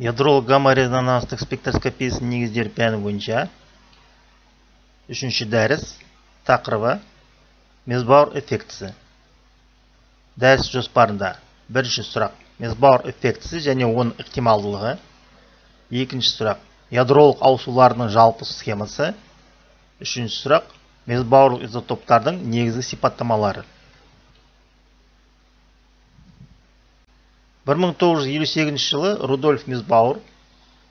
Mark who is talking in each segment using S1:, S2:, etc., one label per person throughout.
S1: Ядролық гамма-резонанстық спектроскопиясының негіздері пәні бойынша 3-ші дәріс тақырыбы Мезбауэр эффектісі. Дәріс жоспарында бірінші сұрақ Мезбауэр эффектісі және оның ықтималдылығы. Екінші сұрақ ядролық ауысулардың жалпы схемасы. Үшінші сұрақ Мезбауэрлік изотоптардың негізгі сипаттамалары. 1958 жылы Рудольф Мезбауэр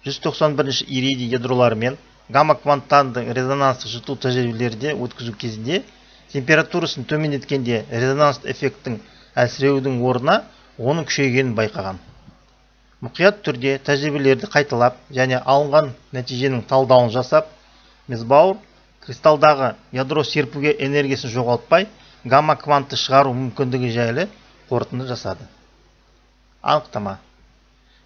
S1: 191 иридий ядроларымен гамма-кванттардың резонанстық жұту тәжірибелерде өткізу кезінде температурасын төмендеткенде резонанс эффекттің әлсіреудің орнына оның күшейгенін байқаған. Мұқият түрде тәжірибелерді қайталап және алынған нәтиженің талдауын жасап, Мезбауэр кристалдағы ядро серпуге энергиясын жоғалтпай гамма-квантты шығару мүмкіндігі жайлы қорытынды жасады. Анықтама.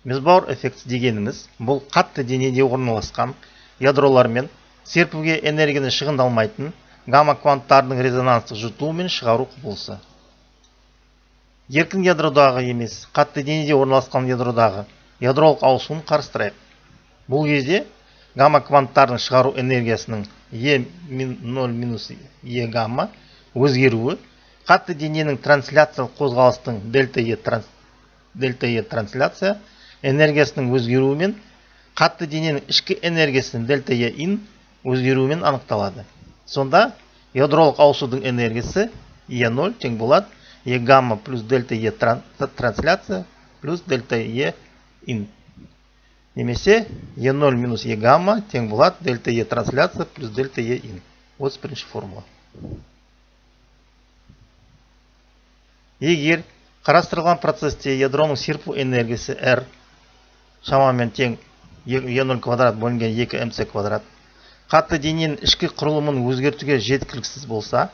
S1: Мезбауэр эффекті дегеніміз бұл қатты денеде орналасқан ядролармен серпуге энергияны шығындалмайтын гамма-кванттардың резонанстық жұтуы мен шығару құбылысы. Еркін ядродағы емес, қатты денеде орналасқан ядродағы ядролық ауысуын қарастырайық. Бұл кезде гамма-кванттардың шығару энергиясының Е0 Е гамма өзгеруі қатты дененің трансляциялық қозғалыстың дельта Е трансляция энергиясының өзгеруімен қатты дененің ішкі энергиясының дельта Е ин өзгеруімен анықталады. Сонда ядролық ауысудың энергиясы Е0 тең болады Е гамма плюс дельта Е трансляция плюс дельта Е ин. Немесе Е0 минус Е гамма тең болады дельта Е трансляция плюс дельта Е ин. 31-ші формула. Егер қарастырылған процесте ядроның серпу энергиясы R шамамен тең Е0 квадрат бөлінген 2 МЦ квадрат қатты дененің ішкі құрылымын өзгертуге жеткіліксіз болса,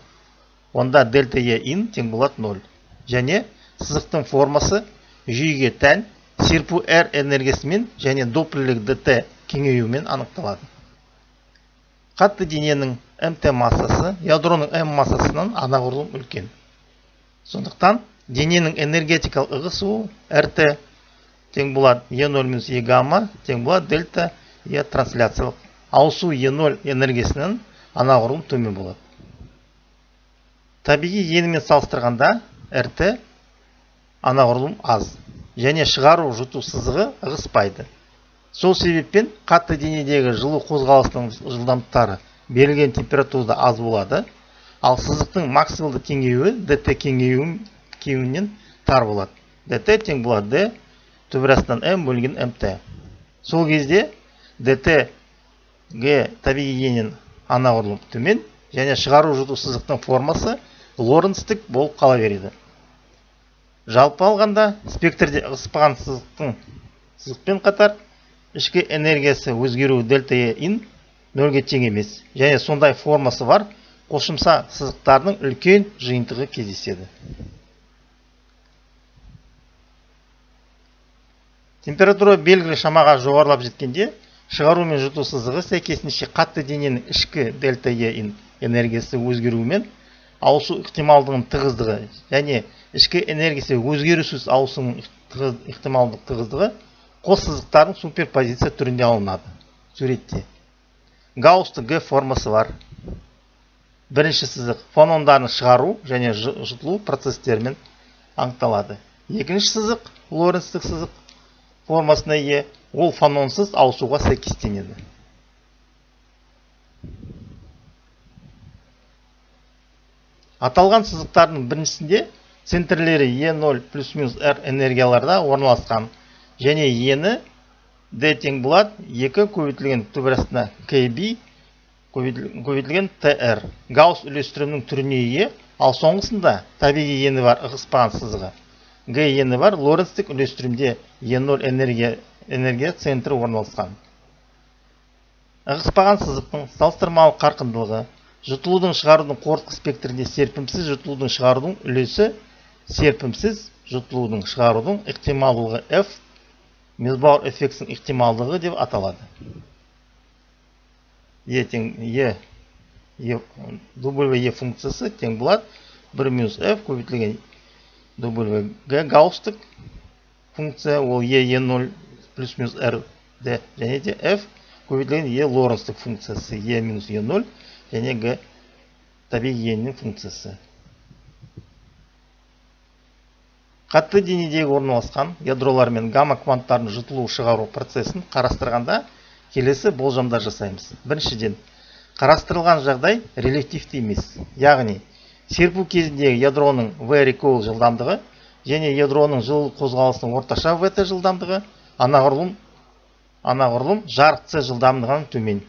S1: онда дельта Е ин тең болады 0. Және сызықтың формасы жүйеге тән серпу R энергиясымен және доплерлік ДТ кеңеюімен анықталады. Қатты дененің МТ массасы ядроның М массасынан анағұрлым үлкен. Сондықтан дененің энергетикалық ығысуы РТ тең болады Е0 минус Е гамма тең болады дельта Е трансляциялық. Ауысу Е0 энергиясынан анағұрлым төмен болады. Табиғи енімен салыстырғанда РТ анағұрлым аз және шығару жұту сызығы ығыспайды. Сол себеппен қатты денедегі жылу қозғалысының жылдамдықтары берілген температурада аз болады, ал сызықтың максималды кеңеюі ДТ кеңеюінен тар болады. ДТ тең болады Д түбірастан М бөлінген МТ. Сол кезде ДТ Г табиғи енен анағұрлым төмен және шығару жұту сызықтың формасы лоренцтік болып қала береді. Жалпы алғанда спектрде ығыспаған сызықпен қатар ішкі энергиясы өзгеру дельта Е ин 0-ге тең емес және сондай формасы бар қосымша сызықтардың үлкен жиынтығы кездеседі. Температура белгілі шамаға жоғарылап жеткенде шығару мен жұту сызығы сәйкесінше қатты дененің ішкі дельта Е ин энергиясы өзгеруімен ауысу ықтималдығының тығыздығы және ішкі энергиясы өзгерусіз ауысуының ықтималдық тығыздығы қос сызықтардың суперпозиция түрінде алынады. Суретте Гаусстың Г формасы бар. Бірінші сызық фонондарын шығару және жұтылу процестерімен анықталады. Екінші сызық лоренцтік сызық формасына ие, ол фононсыз ауысуға сәйкестенеді. Аталған сызықтардың біріншісінде центрлері Е0 плюс-минус R энергияларда орналасқан және ені D тең болады 2 көбейтілген түбірастына KB көбейтілген TR. Гаусс үлестірімнің түріне ие, ал соңғысында табиғи ені бар ығыспаған сызығы. Г ені бар лоренцтік үлестірімде Е0 энергия центрі орналасқан. Ығыспаған сызықтың салыстырмалы қарқындылығы жұтылудың шығарудың қорытқы спектрінде серпімсіз жұтылудың шығарудың үлесі серпімсіз жұтылудың шығарудың ықтималдылығы F Мезбауэр эффектісінің ықтималдығы деп аталады. W функциясы тең болады 1 минус F көбейтілген W Гаусстық функция, ол Е0 плюс минус r d және де f көбейтілген e лоренцтік функциясы e минус e0 және g табиғи еннің функциясы. Қатты денедегі орналасқан ядролар мен гамма кванттарын жұтылу шығару процесін қарастырғанда келесі болжамдар жасаймыз. Біріншіден, қарастырылған жағдай релятивті емес, яғни серпу кезіндегі ядроның v recoil жылдамдығы және ядроның жылу қозғалысының орташа vt жылдамдығы анағұрлым жарық c жылдамдығынан төмен.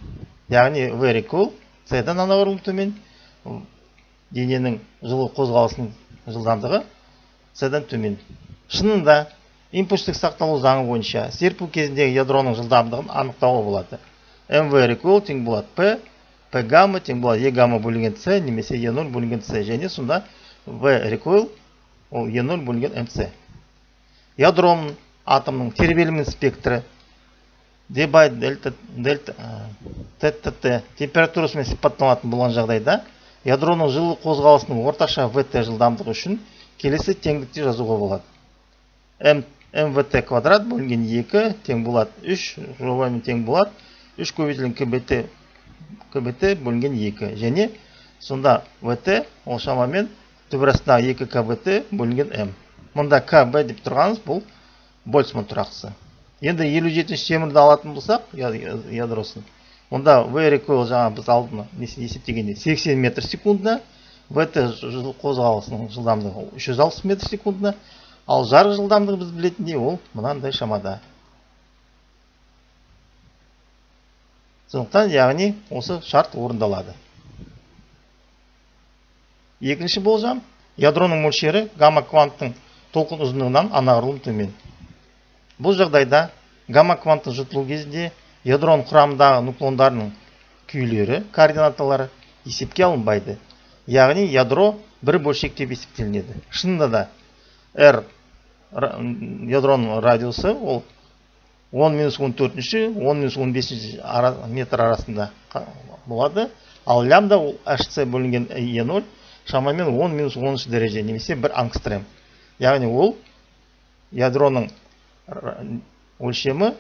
S1: Яғни v recoil c-дан анағұрлым төмен, дененің жылу қозғалысының жылдамдығы c-дан төмен. Шынында импульстік сақталу заңы бойынша серпу кезіндегі ядроның жылдамдығын анықтауға болады. mv recoil тең болады p гамма тең болады e гамма бөлінген c немесе e0 бөлінген c, және сонда v recoil ол e0 бөлінген mc. Ядроның атомның тербелімінің спектрі d by delta tt температурасымен сипатталатын болған жағдайда ядроның жылу қозғалысының орташа vt жылдамдығы үшін келесі теңдікте жазуға болады. mvt квадрат бөлінген 2 тең болады 3, жобамен тең болады 3 көбейтілген кбт бөлінген 2, және сонда vt ол шамамен түбірастағы 2 kbt бөлінген m. Мұнда kb деп тұрғанымыз бұл Больцман тұрақсы. Енді 57-ші темірді алатын болсақ ядросын, онда v recoil жаңа біз алдына есептегенде 80 метр секундына, vt жылу қозғалысының жылдамдығы 360 метр секундына, ал жарық жылдамдығы біз білетіндей ол мынандай шамада. Сондықтан, яғни осы шарт орындалады. Екінші болжам, ядроның мөлшері гамма кванттың толқын ұзындығынан анағұрлым төмен. Бұл жағдайда гамма кванттың жұтылу кезінде ядроның құрамындағы нуклондарының күйлері, координаталары есепке алынбайды. Яғни ядро бір бөлшек деп есептелінеді. Шынында да r ядроның радиусы ол 10-14, 10-15 метр арасында болады, ал лямбда ол hc бөлінген e0 шамамен 10-10 дәреже немесе 1 ангстрем. Яғни ол ядроның өлшемі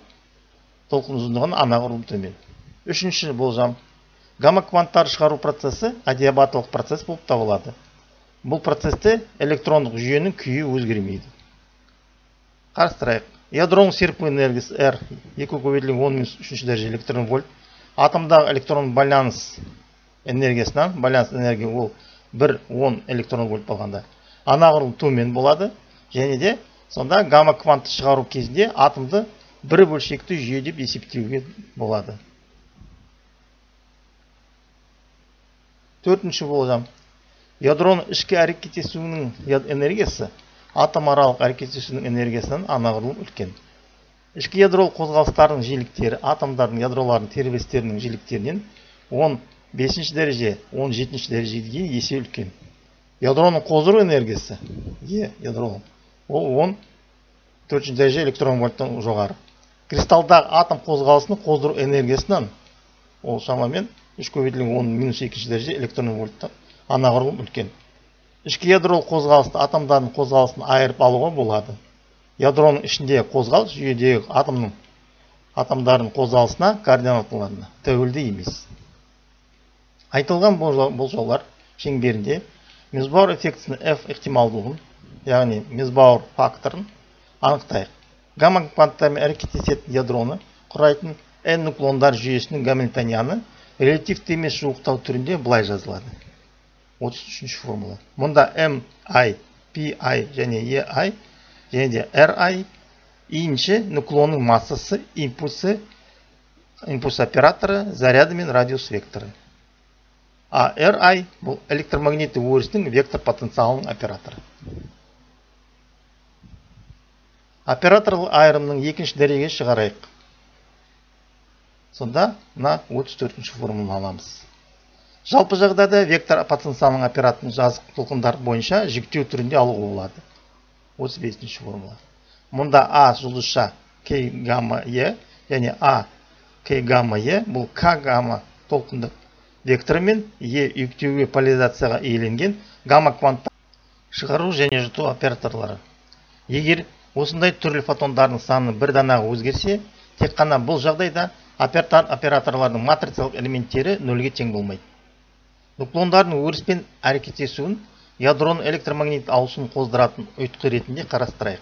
S1: толқын ұзындығын анағұрлым төмен. Үшінші болжам, гамма кванттар шығару процесі адиабаталық процесс болып табылады. Бұл процесте электрондық жүйенің күйі өзгермейді. Қарастырайық. Ядроның серпу энергиясы R 2 көбейтілген 10-3 дәреже электрон вольт. Атомдағы электрон байланыс энергиясынан, байланыс энергия ол 1-10 электрон вольт болғанда анағұрлым төмен болады, және де сонда гамма квантты шығару кезінде атомды бір бөлшекті жүйе деп есептеуге болады. Төртінші болжам. Ядроның ішкі әрекеттесуінің энергиясы атом аралық әрекеттесуінің энергиясынан анағұрлым үлкен. Ішкі ядролық қозғалыстардың жиіліктері атомдардың ядролардың тербелістерінің жиіліктерінен 15 дәреже, 17 дәрежеге дейін есе үлкен. Ядроның қоздыру энергиясы ядроның ол 14 дәреже электрон вольттан жоғары. Кристалдағы атом қозғалысының қоздыру энергиясынан ол шамамен 3 көбейтілген 10-2 дәреже электрон вольттан анағұрлым үлкен. Ішкі ядролық қозғалысты атомдардың қозғалысын айырып алуға болады. Ядроның ішінде қозғалыс жүйедегі атомдардың қозғалысына, координаталарына тәуелді емес. Айтылған болжаулар шеңберінде Мезбауэр эффектісінің F ықтималдылығын, яғни Мезбауэр факторын анықтайық. Гамма кванттармен әрекеттесетін ядроны құрайтын n нуклондар жүйесінің гамильтонианы релятивті емес жуықтау түрінде былай жазылады. 33-ші формула. Мұнда mi, pi және ei және де ri иінше нуклонның массасы, импульс операторы, заряды мен радиус векторы. А ri бұл электромагнитті өрістің вектор потенциалының операторы. Операторлы айырымның екінші дәрежеге шығарайық. Сонда мына 34-ші формуланы аламыз. Жалпы жағдайда вектор потенциалының операторын жазық толқындар бойынша жіктеу түрінде алуға болады. 35-ші формула. Мұнда А жұлдызша К гамма Е және А К гамма Е бұл К гамма толқындық векторы мен Е үйіктеуге поляризацияға иеленген гамма кванттар шығару және жұту операторлары. Егер Осындай түрлі фотондардың саны бір данаға өзгерсе, тек қана бұл жағдайда операторлардың матрицалық элементтері нөлге тең болмайды. Нуклондардың өріспен әрекеттесуін ядроның электромагнит ауысуын қоздыратын ұйытқы ретінде қарастырайық.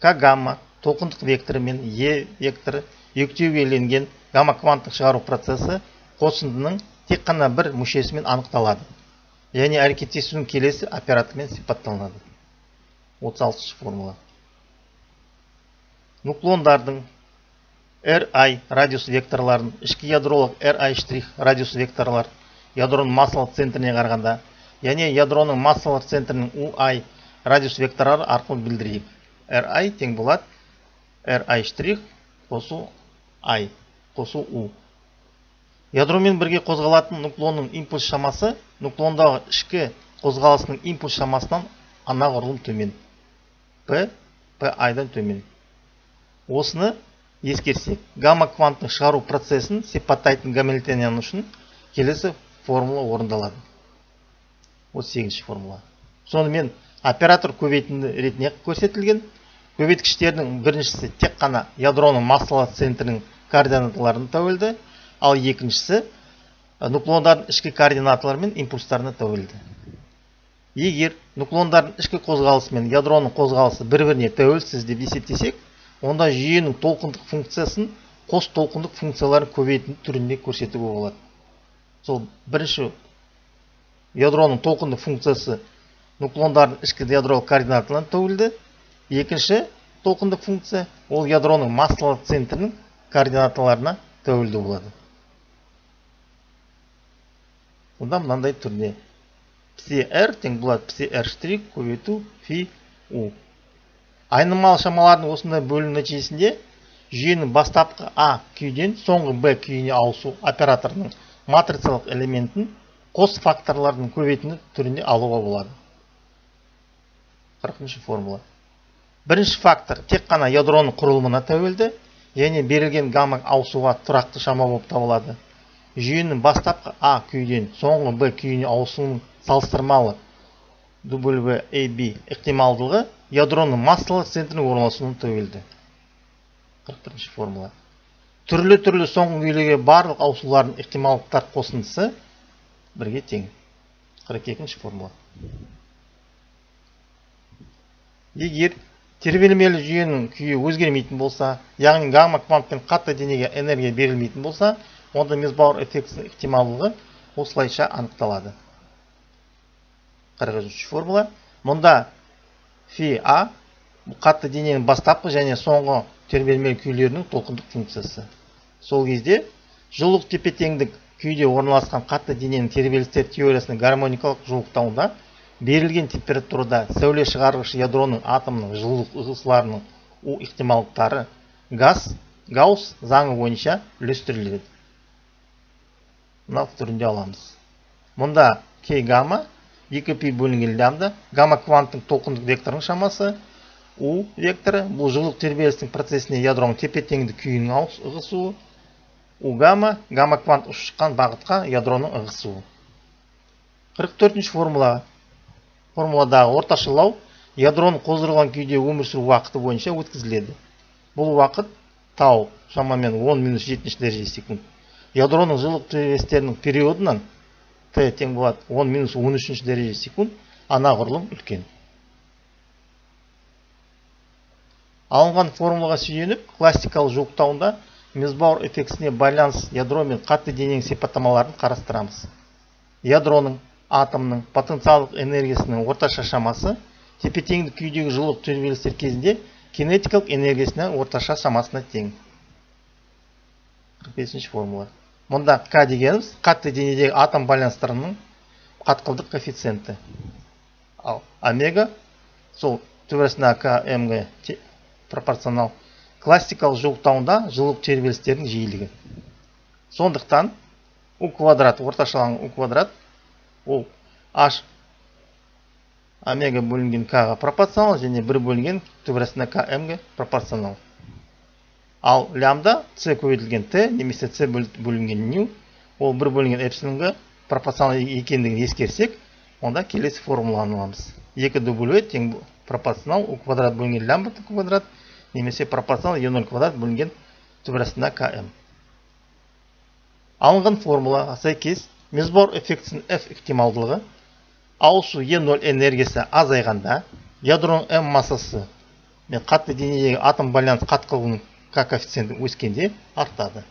S1: К гамма толқындық векторы мен Е векторы екеуге бөлінген гамма кванттық шығару процесі қосындының тек қана бір мүшесімен анықталады. Және әрекеттесудің келесі оператормен сипатталынады. 36 формула. Нуклондардың RI радиус векторларын ішкі ядролық RI' радиус векторлар ядроның массалық центріне қарағанда, яғни ядроның массалық центрінің UI радиус векторлары арқылы білдірейік. RI тең болады RI' қосу I қосу U. Ядромен бірге қозғалатын нуклонның импульс шамасы нуклондағы ішкі қозғалысының импульс шамасынан анағұрлым төмен. P-I-дан төмен. Осыны ескерсек, гамма кванттың шығару процесін сипаттайтын Гамильтониан үшін келесі формула орындалады. 38 формула. Сонымен оператор көбейтінді ретіне көрсетілген. Көбейткіштердің біріншісі тек қана ядроның массалық центрінің координаталарына тәуелді, ал екіншісі нуклондардың ішкі координаталары мен импульстарына тәуелді. Егер нуклондардың ішкі қозғалысы мен ядроның қозғалысы бір-біріне тәуелсіз деп есептесек, онда жүйенің толқындық функциясын қос толқындық функцияларын көбейтін түрінде көрсетуге болады. Сол бірінші ядроның толқындық функциясы нуклондардың ішкі ядролық координаталарына тәуелді. Екінші толқындық функция ол ядроның массалық центрінің координаталарына тәуелді болады. Онда мынандай түрде psi-r тең болады psi-r' көбейту фи u. Айнымалы шамалардың осындай бөлім нәтижесінде жүйенің бастапқы А күйден соңғы Б күйіне ауысу операторының матрицалық элементін қос факторлардың көбейтіні түрінде алуға болады. 40 формула. Бірінші фактор тек қана ядроның құрылымына тәуелді, яғни берілген гамма ауысуға тұрақты шама болып табылады. Жүйенің бастапқы А күйден соңғы Б күйіне ауысуының салыстырмалы WAB ықтималдылығы ядроның массалық центрінің орналасуына тәуелді. 41 формула. Түрлі соңғы күйлерге барлық ауысулардың ықтималдықтар қосындысы бірге тең. 42 формула. Егер тербелмелі жүйенің күйі өзгермейтін болса, яғни гамма квантпен қатты денеге энергия берілмейтін болса, онда Мезбауэр эффектісінің ықтималдылығы осылайша анықталады. 43 формула. Мұнда фи А қатты дененің бастапқы және соңғы тербелмелі күйлерінің толқындық функциясы. Сол кезде жылулық тепе-теңдік күйде орналасқан қатты дененің тербелістер теориясының гармоникалық жуықтауында берілген температурада сәуле шығарғыш ядроның атомның жылулық ығысуларының U ықтималдықтары Гаусс заңы бойынша үлестіріледі. Мынау түрінде аламыз. Мұнда К гамма 2π бөлінген лямбда гамма кванттың толқындық векторының шамасы, U векторы бұл жылулық тербелістің процесіне ядроның тепе-теңдік күйінің ығысуы, U гамма квант ұшып шыққан бағытқа ядроның ығысуы. 44 формуладағы орташалау ядроның қоздырылған күйде өмір сүру уақыты бойынша өткізіледі. Бұл уақыт тау шамамен 10-7 дәрежесі секунд. Ядроның жылулық тербелістерінің периодынан Т тең болады 10-13 дәрежесі секунд, анағұрлым үлкен. Алынған формулаға сүйеніп, классикалық жуықтауында Мезбауэр эффектісіне байланыс ядро мен қатты дененің сипаттамаларын қарастырамыз. Ядроның атомның потенциалдық энергиясының орташа шамасы тепе-теңдік күйдегі жылулық тербелістер кезінде кинетикалық энергиясының орташа шамасына тең. 45 формула. Мұнда К дегеніміз қатты денедегі атом байланыстарының қатқылдық коэффициенті. Ал омега сол төбесіне КМ-ге пропорционал. Классикалық жуықтауында жылулық тербелістердің жиілігі. Сондықтан U квадрат, орташаланған U квадрат, ол H омега бөлінген К-ға пропорционал және 1 бөлінген төбесіне КМ-ге пропорционал. Ал лямбда С көбейтілген Т немесе С бөлінген ню, ол 1 бөлінген эпсилонға пропорционал екендігін ескерсек, онда келесі формуланы аламыз. 2W тең пропорционал у квадрат бөлінген лямбда квадрат немесе пропорционал Е0 квадрат бөлінген түбір астына КМ. Алынған формулаға сәйкес Мезбаур эффектісінің F ықтималдылығы ауысу Е0 энергиясы азайғанда ядроның М массасы мен қатты денедегі атом байланыс қатқылығының К коэффициенті өскенде артады.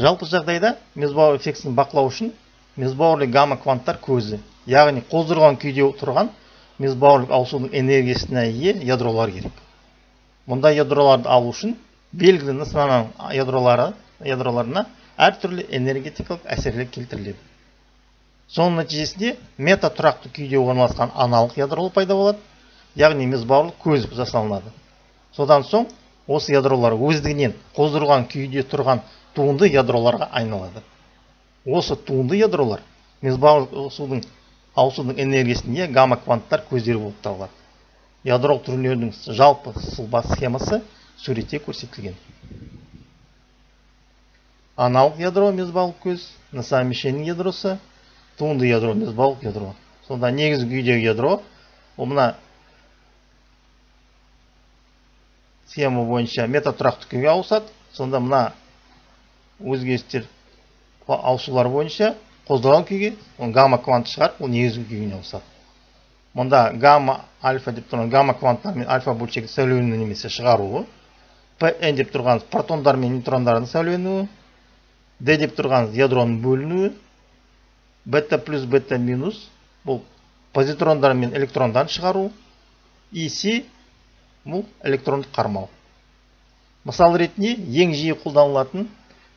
S1: Жалпы жағдайда Мезбаур эффектісін бақылау үшін Мезбаурлы гамма кванттар көзі, яғни қоздырған күйде тұрған Мезбаурлық ауысудың энергиясына ие ядролар керек. Мұнда ядроларды алу үшін белгілі нысананың ядроларына әртүрлі энергетикалық әсерлер келтіріледі. Соның нәтижесінде мета тұрақты күйде орналасқан аналық ядролы пайда болады, яғни Мезбаурлық көз жасалынады. Содан соң осы ядролар өздігінен қоздырған күйде тұрған туынды ядроларға айналады. Осы туынды ядролар Мезбаурлық ауысудың энергиясіне гамма кванттар көздері болып табылады. Ядролық түрлердің жалпы сұлба схемасы суретте көрсетілген. Аналық ядро Мезбаурлық көз, нысан мишеннің ядросы, туынды ядро Мезбаурлық ядро. Сонда негізгі күйдегі ядро, мына схема бойынша мета тұрақты күйге ауысады. Сонда мына өзгерістер ауысулар бойынша қоздырған күйге гамма квант шығарып, ол негізгі күйіне ауысады. Мұнда гамма альфа деп тұрған гамма кванттар мен альфа бөлшегі сәулеленуі немесе шығаруы, Pn деп тұрған протондар мен нейтрондардың сәулеленуі, D деп тұрған ядроның бөлінуі, бета плюс бета минус бұл позитрондар мен электрондарын шығару, С бұл электрондық қармау. Мысал ретінде ең жиі қолданылатын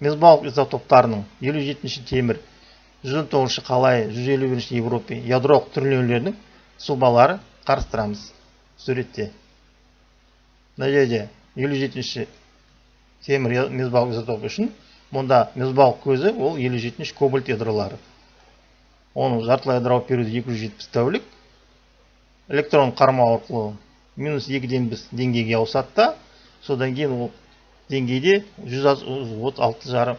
S1: Мезбаурлық изотоптарының 57-ші темір, 119-ші қалайы, 151-ші Европа ядролық түрленулерінің сұлбалары қарастырамыз суретте. Мына жерде 57-ші темір Мезбаурлық изотопы үшін мұнда Мезбаурлық көзі ол 57-ші кобальт ядролары. Оның жартылай ядролық периоды 270 тәулік. Электрон қармау арқылы минус 2-ден біз деңгейге ауысады, содан кейін ол деңгейде 136,5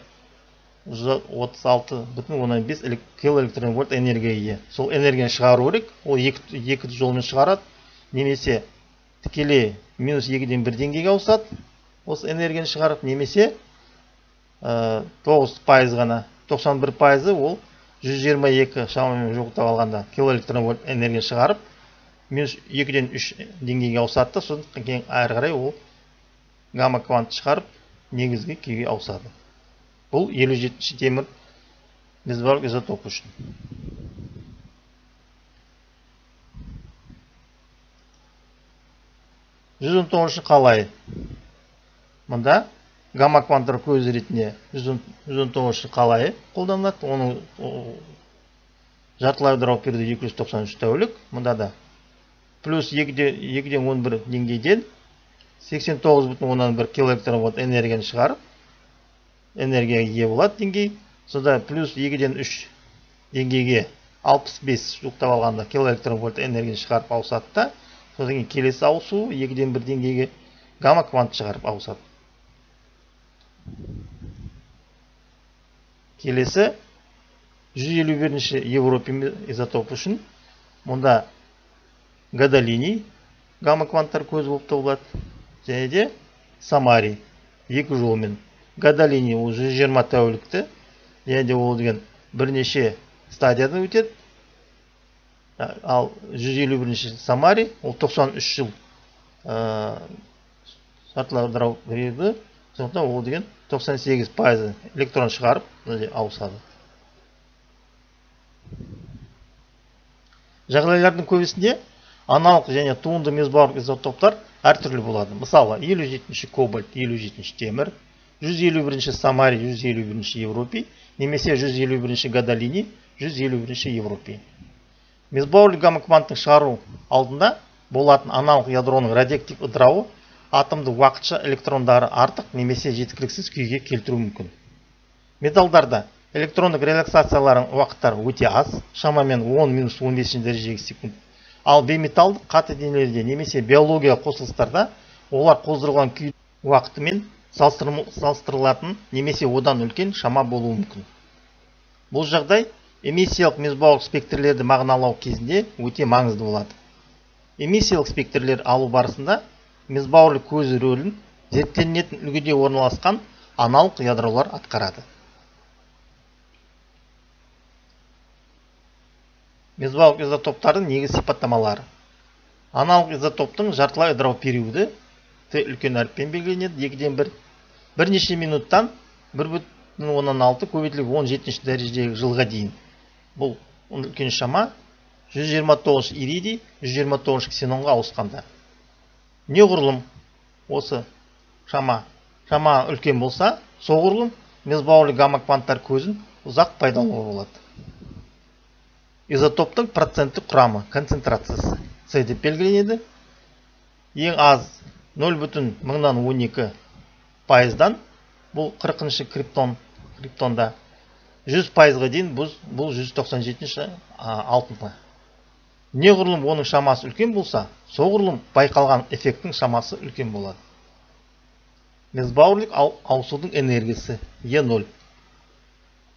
S1: килоэлектрон вольт энергия ие. Сол энергияны шығару керек, ол екі жолмен шығарады, немесе тікелей минус 2-ден 1 деңгейге ауысады, осы энергияны шығарып, немесе 9% ғана, 91% ол 122 шамамен жоқтап алғанда килоэлектрон вольт энергия шығарып, минус 2-ден 3 деңгейге ауысады, содан кейін әрі қарай ол гамма квант шығарып, негізгі күйге ауысады. Бұл 57-ші темір Мезбаурлық изотоп үшін. Жүз 119-ші қалайы. Мұнда гамма кванттар көзі ретінде 119-ші қалайы қолданылады. Оның жартылай ядролық периоды 293 тәулік. Мұнда да плюс 2-ден 11 деңгейден 89,1 килоэлектрон вольт энергияны шығарып, энергияға ие болады деңгей. Сонда плюс 2-ден 3 деңгейге 65 жоқтап алғанда килоэлектрон вольт энергияны шығарып ауысады да, содан кейін келесі ауысу 2-ден 1 деңгейге гамма квант шығарып ауысады. Келесі 151-ші Европа изотоп үшін мұнда гадолиний гамма кванттар көзі болып табылады. Және де самарий екі жолмен. Гадолиний ол 120 тәулікті, және де ол деген бірнеше стадиядан өтеді. Ал 151-ші самарий ол 93 жыл жартылай ядролық периоды, сондықтан ол деген 98% электрон шығарып ауысады. Жағдайлардың көбісінде аналық және туынды Мезбаурлық изотоптар әртүрлі болады. Мысалы, 57-ші кобальт, 57-ші темір, 151-ші самарий, 151-ші Европа, немесе 151-ші гадолиний, 151-ші Европа. Мезбаурлық гамма кванттың шығару алдында болатын аналық ядроның радиоактив ыдырауы атомды уақытша электрондары артық немесе жеткіліксіз күйге келтіру мүмкін. Металдарда электрондық релаксациялардың уақыттары өте аз, шамамен 10-15 дәрежеге секунд. Ал бейметалдық қатты денелерде немесе биология қосылыстарда олар қоздырылған күй уақытымен салыстырылатын немесе одан үлкен шама болуы мүмкін. Бұл жағдай эмиссиялық мезбауырлық спектрлерді мағыналау кезінде өте маңызды болады. Эмиссиялық спектрлер алу барысында мезбауырлық көзі рөлін зерттелінетін үлгіде орналасқан аналық ядролар атқарады. Мезбауырлық изотоптардың негізгі сипаттамалары. Аналық изотоптың жартылай ыдырау периоды Т үлкен әріппен белгіленеді. 2-ден 1. Бірнеше минуттан 1,16 көбейтілген 17 дәрежедегі жылға дейін. Бұл үлкен шама 129 иридий 129 ксенонға ауысқанда. Неғұрлым осы шама үлкен болса, соғұрлым мезбауырлық гамма кванттар көзін ұзақ пайдалануға болады. Изотоптың проценттік құрамы, концентрациясы С деп белгіленеді. Ең аз 0,12 пайыздан, бұл 40-шы криптонда 100 пайызға дейін, бұл 197-ші алтынға. Неғұрлым оның шамасы үлкен болса, соғұрлым байқалған эффекттің шамасы үлкен болады. Мезбауырлық ауысудың энергиясы Е0.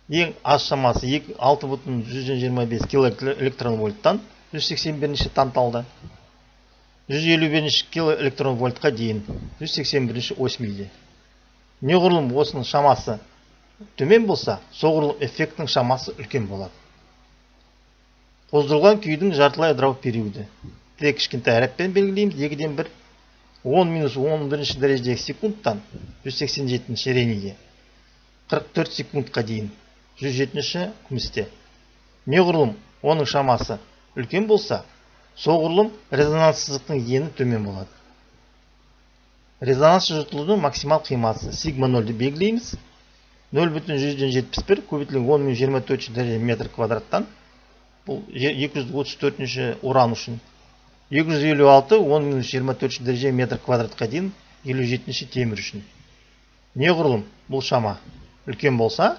S1: Ең аз шамасы 6,125 килоэлектрон вольттан 181-ші танталда, 151-ші килоэлектрон вольтқа дейін 181-ші ось мильде. Неғұрлым осының шамасы төмен болса, соғұрлым эффекттің шамасы үлкен болады. Қоздырылған күйдің жартылай ыдырау периоды. Т кішкентай әріппен белгілейміз. 2-ден 1. 10-11 дәрежедегі секундтан 187-ші рениге 44 секундқа дейін 107-ші күмісте. Неғұрлым оның шамасы үлкен болса, соғұрлым резонанс сызықтың ені төмен болады. Резонанс жыртылудың максимал қимасы сигма 0-ді белгілейміз. 0,171 көбейтілген 10,024 дәрежеде метр квадраттан, бұл 234-ші уран үшін. 256 10,024 дәреже метр квадратқа дейін 57-ші темір үшін. Неғұрлым бұл шама үлкен болса,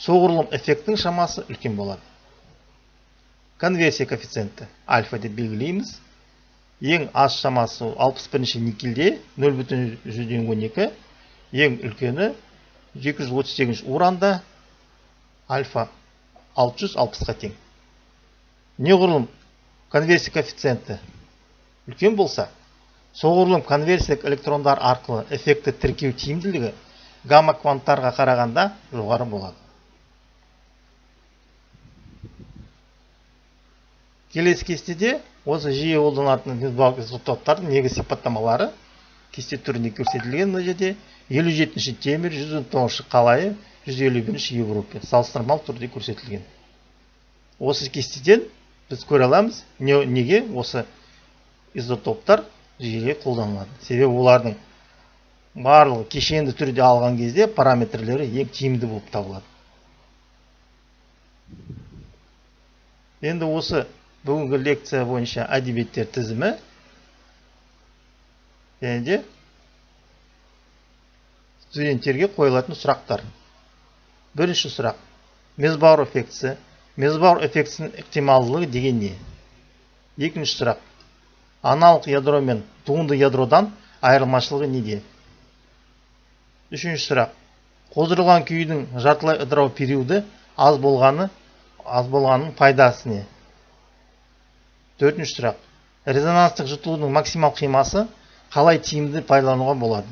S1: соғұрлым эффекттің шамасы үлкен болады. Конверсия коэффициенті альфа деп белгілейміз. Ең аз шамасы 61-ші никельде 0,112, ең үлкені 238 уранда альфа 660-ға тең. Неғұрлым конверсия коэффициенті үлкен болса, соғұрлым конверсиялық электрондар арқылы эффекті тіркеу тиімділігі гамма кванттарға қарағанда жоғары болады. Келесі кестеде осы жиі қолданылатын мезбауырлық изотоптардың негізгі сипаттамалары кесте түрінде көрсетілген. Мына жерде 57-ші темір, 119-ші қалайы, 151-ші Европа салыстырмалы түрде көрсетілген. Осы кестеден біз көре аламыз, неге осы изотоптар жиі қолданылады. Себебі олардың барлығы кешенді түрде алған кезде параметрлері ең тиімді болып табылады. Енді осы бүгінгі лекция бойынша әдебиеттер тізімі және де студенттерге қойылатын сұрақтар. Бірінші сұрақ. Мезбауыр эффектісі. Мезбауыр эффектісінің ықтималдылығы деген не? Екінші сұрақ. Аналық ядро мен туынды ядродан айырмашылығы неде? Үшінші сұрақ. Қоздырылған күйдің жартылай ыдырау периоды аз болғанның пайдасы не? Төртінші сұрақ. Резонанстық жыртылудың максимал қимасы қалай тиімді пайдалануға болады?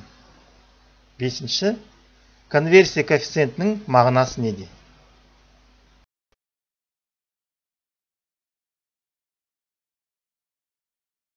S1: Бесінші. Конверсия коэффициентінің мағынасы неде?